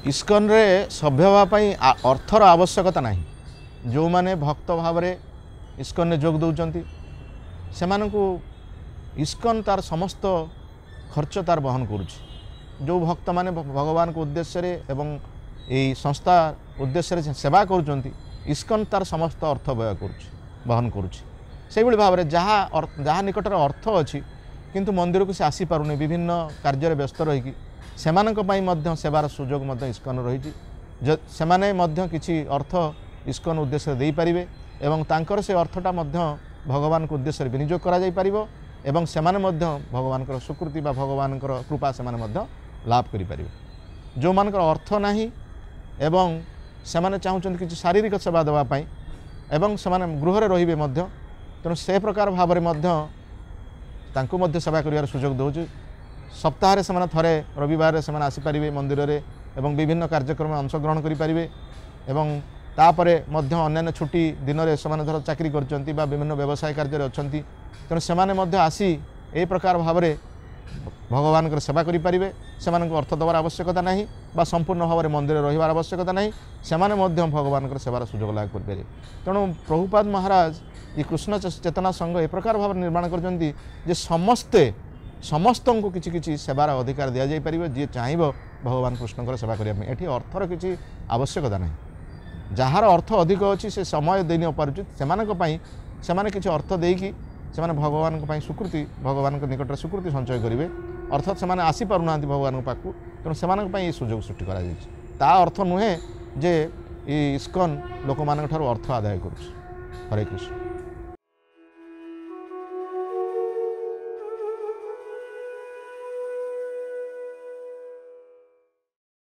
ଇସ୍କନରେ ସଭ୍ୟ ହେବା ପାଇଁ ଅର୍ଥର ଆବଶ୍ୟକତା ନାହିଁ। ଯେଉଁମାନେ ଭକ୍ତ ଭାବରେ ଇସ୍କନରେ ଯୋଗ ଦେଉଛନ୍ତି, ସେମାନଙ୍କୁ ଇସ୍କନ ତାର ସମସ୍ତ ଖର୍ଚ୍ଚ ତାର ବହନ କରୁଛି। ଯେଉଁ ଭକ୍ତମାନେ ଭଗବାନଙ୍କ ଉଦ୍ଦେଶ୍ୟରେ ଏବଂ ଏଇ ସଂସ୍ଥା ଉଦ୍ଦେଶ୍ୟରେ ସେବା କରୁଛନ୍ତି, ଇସ୍କନ ତାର ସମସ୍ତ ଅର୍ଥ ବ୍ୟୟ କରୁଛି, ବହନ କରୁଛି। ସେଇଭଳି ଭାବରେ ଯାହା ନିକଟରେ ଅର୍ଥ ଅଛି କିନ୍ତୁ ମନ୍ଦିରକୁ ସେ ଆସିପାରୁନି ବିଭିନ୍ନ କାର୍ଯ୍ୟରେ ବ୍ୟସ୍ତ ରହିକି, ସେମାନଙ୍କ ପାଇଁ ମଧ୍ୟ ସେବାର ସୁଯୋଗ ମଧ୍ୟ ଇସ୍କନ ରହିଛି। ସେମାନେ ମଧ୍ୟ କିଛି ଅର୍ଥ ଇସ୍କନ ଉଦ୍ଦେଶ୍ୟରେ ଦେଇପାରିବେ ଏବଂ ତାଙ୍କର ସେ ଅର୍ଥଟା ମଧ୍ୟ ଭଗବାନଙ୍କ ଉଦ୍ଦେଶ୍ୟରେ ବିନିଯୋଗ କରାଯାଇପାରିବ ଏବଂ ସେମାନେ ମଧ୍ୟ ଭଗବାନଙ୍କର ସ୍ୱୀକୃତି ବା ଭଗବାନଙ୍କର କୃପା ସେମାନେ ମଧ୍ୟ ଲାଭ କରିପାରିବେ। ଯେଉଁମାନଙ୍କର ଅର୍ଥ ନାହିଁ ଏବଂ ସେମାନେ ଚାହୁଁଛନ୍ତି କିଛି ଶାରୀରିକ ସେବା ଦେବା ପାଇଁ ଏବଂ ସେମାନେ ଗୃହରେ ରହିବେ ମଧ୍ୟ, ତେଣୁ ସେ ପ୍ରକାର ଭାବରେ ମଧ୍ୟ ତାଙ୍କୁ ମଧ୍ୟ ସେବା କରିବାର ସୁଯୋଗ ଦେଉଛି। ସପ୍ତାହରେ ସେମାନେ ଥରେ ରବିବାରରେ ସେମାନେ ଆସିପାରିବେ ମନ୍ଦିରରେ ଏବଂ ବିଭିନ୍ନ କାର୍ଯ୍ୟକ୍ରମରେ ଅଂଶଗ୍ରହଣ କରିପାରିବେ। ଏବଂ ତାପରେ ମଧ୍ୟ ଅନ୍ୟାନ୍ୟ ଛୁଟି ଦିନରେ ସେମାନେ ଧର ଚାକିରି କରିଛନ୍ତି ବା ବିଭିନ୍ନ ବ୍ୟବସାୟ କାର୍ଯ୍ୟରେ ଅଛନ୍ତି, ତେଣୁ ସେମାନେ ମଧ୍ୟ ଆସି ଏହି ପ୍ରକାର ଭାବରେ ଭଗବାନଙ୍କର ସେବା କରିପାରିବେ। ସେମାନଙ୍କୁ ଅର୍ଥ ଦେବାର ଆବଶ୍ୟକତା ନାହିଁ ବା ସମ୍ପୂର୍ଣ୍ଣ ଭାବରେ ମନ୍ଦିରରେ ରହିବାର ଆବଶ୍ୟକତା ନାହିଁ, ସେମାନେ ମଧ୍ୟ ଭଗବାନଙ୍କର ସେବାର ସୁଯୋଗ ଲାଭ କରିପାରିବେ। ତେଣୁ ପ୍ରଭୁପାଦ ମହାରାଜ ଏ କୃଷ୍ଣ ଚେତନା ସଂଘ ଏ ପ୍ରକାର ଭାବରେ ନିର୍ମାଣ କରିଛନ୍ତି ଯେ ସମସ୍ତଙ୍କୁ କିଛି କିଛି ସେବାର ଅଧିକାର ଦିଆଯାଇପାରିବ, ଯିଏ ଚାହିଁବ ଭଗବାନ କୃଷ୍ଣଙ୍କର ସେବା କରିବା ପାଇଁ। ଏଠି ଅର୍ଥର କିଛି ଆବଶ୍ୟକତା ନାହିଁ। ଯାହାର ଅର୍ଥ ଅଧିକ ଅଛି ସେ ସମୟ ଦେଇ ନପାରୁଛି, ସେମାନଙ୍କ ପାଇଁ ସେମାନେ କିଛି ଅର୍ଥ ଦେଇକି ସେମାନେ ଭଗବାନଙ୍କ ପାଇଁ ସ୍ୱୀକୃତି, ଭଗବାନଙ୍କ ନିକଟରେ ସ୍ୱୀକୃତି ସଞ୍ଚୟ କରିବେ। ଅର୍ଥାତ୍ ସେମାନେ ଆସିପାରୁନାହାନ୍ତି ଭଗବାନଙ୍କ ପାଖକୁ, ତେଣୁ ସେମାନଙ୍କ ପାଇଁ ଏହି ସୁଯୋଗ ସୃଷ୍ଟି କରାଯାଇଛି। ତା ଅର୍ଥ ନୁହେଁ ଯେ ଏ ଇସ୍କନ ଲୋକମାନଙ୍କ ଠାରୁ ଅର୍ଥ ଆଦାୟ କରୁଛି। ହରେ କୃଷ୍ଣ।